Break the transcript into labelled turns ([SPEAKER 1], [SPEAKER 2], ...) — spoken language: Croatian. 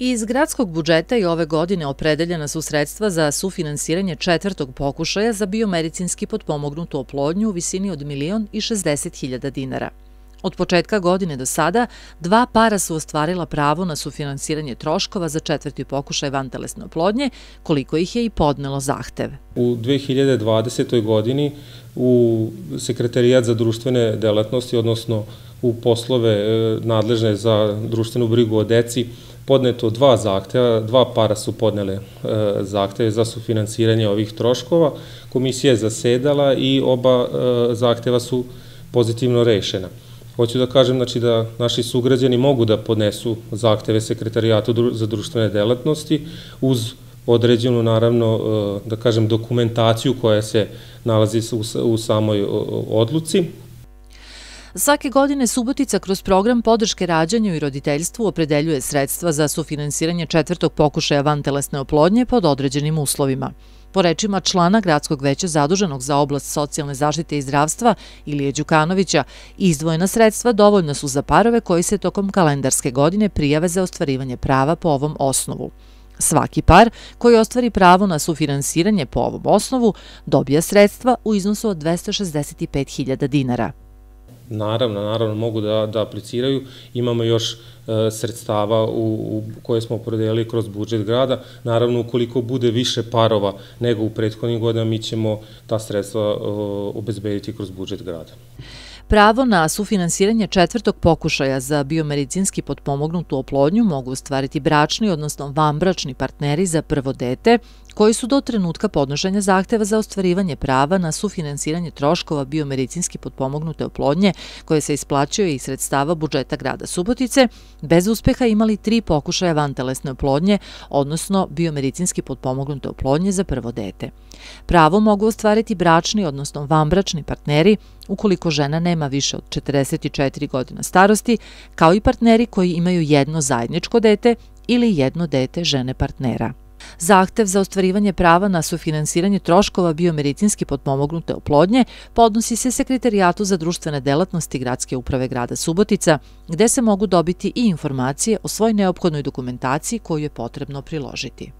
[SPEAKER 1] Iz gradskog budžeta i ove godine opredeljena su sredstva za sufinansiranje četvrtog pokušaja za biomedicinski potpomognutu oplodnju u visini od 1.060.000 dinara. Od početka godine do sada, 2 para su ostvarila pravo na sufinansiranje troškova za četvrti pokušaj vantelesne oplodnje, koliko ih je i podnelo zahtev.
[SPEAKER 2] U 2020. godini u Sekretarijat za društvene delatnosti, odnosno u poslove nadležne za društvenu brigu o deci, podneto 2 zahteva, 2 para su podnele zahteve za sufinansiranje ovih troškova. Komisija je zasedala i oba zahteva su pozitivno rešena. Hoću da kažem da naši sugrađani mogu da podnesu zahteve Sekretarijatu za društvene delatnosti uz određenu, naravno, da kažem, dokumentaciju koja se nalazi u samoj odluci.
[SPEAKER 1] Svake godine Subotica kroz program podrške rađanju i roditeljstvu opredeljuje sredstva za sufinansiranje četvrtog pokušaja vantelesne oplodnje pod određenim uslovima. Po rečima člana Gradskog veća zaduženog za oblast socijalne zaštite i zdravstva Ilije Đukanovića, izdvojena sredstva dovoljna su za parove koji se tokom kalendarske godine prijave za ostvarivanje prava po ovom osnovu. Svaki par koji ostvari pravo na sufinansiranje po ovom osnovu dobija sredstva u iznosu od 265.000 dinara.
[SPEAKER 2] Naravno, mogu da apliciraju. Imamo još sredstava koje smo opredelili kroz budžet grada. Naravno, ukoliko bude više parova nego u prethodnim godinama, mi ćemo ta sredstva obezbediti kroz budžet grada.
[SPEAKER 1] Pravo na sufinansiranje četvrtog pokušaja za biomedicinski potpomognutu oplodnju mogu ostvariti bračni, odnosno vanbračni partneri za prvo dete, koji su do trenutka podnošenja zahteva za ostvarivanje prava na sufinansiranje troškova biomedicinski potpomognute oplodnje, koje se isplaćuje iz sredstava budžeta grada Subotice, bez uspeha imali 3 pokušaja vantelesne oplodnje, odnosno biomedicinski potpomognute oplodnje za prvo dete. Pravo mogu ostvariti bračni, odnosno vanbračni partneri, ukoliko žena nema više od 44 godina starosti, kao i partneri koji imaju jedno zajedničko dete ili jedno dete žene partnera. Zahtev za ostvarivanje prava na sufinansiranje troškova biomedicinski potpomognute oplodnje podnosi se Sekretarijatu za društvene delatnosti Gradske uprave grada Subotica, gde se mogu dobiti i informacije o svoj neophodnoj dokumentaciji koju je potrebno priložiti.